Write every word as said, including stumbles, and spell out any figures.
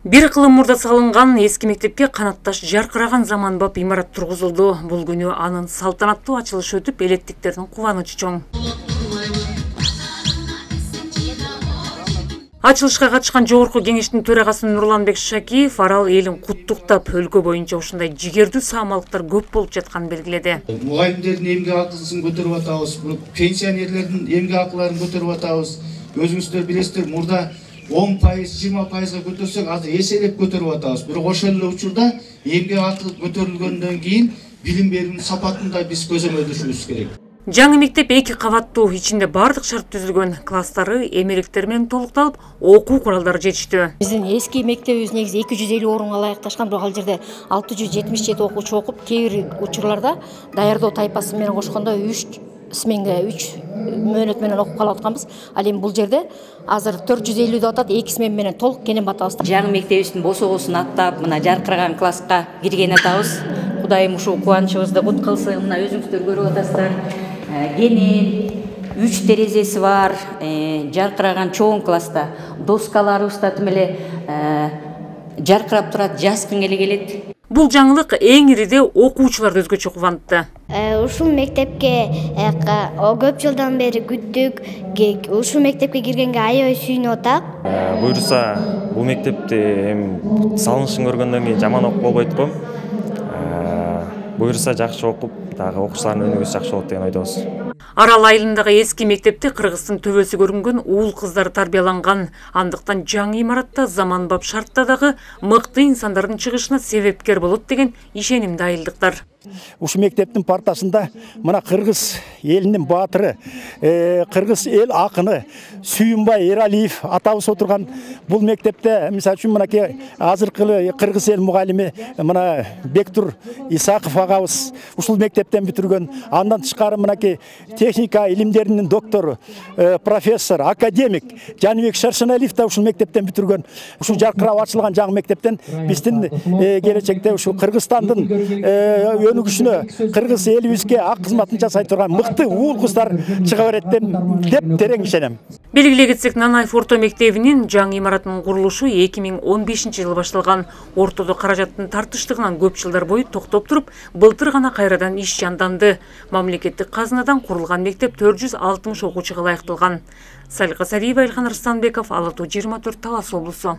Бир кылым мурда салынган эски мектепке канатташ жаркыраган заманбап имарат тургузулду. Бул күнү анын салтанаттуу ачылышы өтүп, электиктердин кубанычы чоң. Ачылышка катышкан жогорку кеңештин төрагасы Нурланбек Шакиев арал элин куттуктап, өлкө боюнча ушундай жигердүү саамалыктар көп болуп жатканын белгиледи. Мугалимдердин эмгек акысын көтөрүп атабыз, пенсионерлердин эмгек акыларын көтөрүп атабыз. Өзүңүздөр билесиздер, мурда он пайыз, жыйырма пайызга көтөрсөк, азыр эселеп көтөрүп атабыз. Бирок ошол эле учурда эмгек акы көтөрүлгөндөн кийин билим берүүнүн сапатын да биз көзөмөлдөшүбүз керек. Жаңы мектеп эки кабаттуу, ичинде бардык шарт түзүлгөн, класстары эмелектер менен толукталып, окуу куралдары жетиштүү. Биздин эски мектебибиз негизи эки жүз элүү орунга ылайыкташкан, бирок ал жерде алты жүз жетимиш жети окуучу окуп, кээ бир учурларда даярдоо тайпасы менен кошкондо үч сменге үч мөөнөт менен окуп калып атканбыз. Ал эми бул жерде азыр төрт жүз элүү деп атат, эки смен менен толук кенен батабыз. Жаңы мектебибиздин босогосун аттап, мына жаркыраган класска кирген атабыз. Кудайым ушул кубанычыбызды кут кылсын. Мына өзүңүздөр көрүп атасыздар. Кенен үч терезеси бар, жаркыраган чоң класста доскаларыбыз да тим эле жаркырап турат, жазгың эле келет. Бул жаңылык эң ириде окуучуларды өзгөчө кубантты. Ушул мектепке көп жылдан бери күттүк. Ушул мектепке киргенге аябай сүйүнүп атак. Буюрса, бул мектепти эми салынышын көргөндөн кийин жаман окуп болбойт го. Буюрса жакшы окуп, дагы окуучулардын өнүгүүсү жакшы болот деген ойдобуз. Арал айылындагы эски мектепте Кыргыздын төбөсү көрүнгөн уул кыздар тарбияланган. Андыктан жаңы имаратта заманбап шартта дагы мыкты инсандардын чыгышына себепкер болот деген ишенимде айылдыктар. Ушул мектептин партасында мына кыргыз элинин баатыры, кыргыз эл акыны Сүйүнбай Эралиев атабыз отурган бул мектепте, мисалы үчүн мынакей азыркы кыргыз эл мугалими мына Бектур Исаков агабыз ушул мектептен бүтүргөн. Андан тышкары мынакей техника илимдеринин доктору, профессор, академик Жаныбек Шаршеналиев да ушул мектептен бүтүргөн. Ушул жаркырап ачылган жаңы мектептен биздин келечекте ушул Кыргызстандын өнүгүшүнө, кыргыз элибизге ак кызматын жасай турган мыкты уул кыздар чыга берет деп терең ишенем. Белгилей кетсек, Нанаев орто мектебинин жаңы имаратынын курулушу эки миң он бешинчи жылы башталган. Ортодо каражаттын тартыштыгынан көп жылдар бою токтоп туруп, былтыр гана кайрадан иш жанданды. Мамлекеттик казынадан курулган мектеп төрт жүз алтымыш окуучуга ылайыкталган. Салика Сариева, Илхан Арстанбеков, Ала тоо жыйырма төрт, Талас облусу.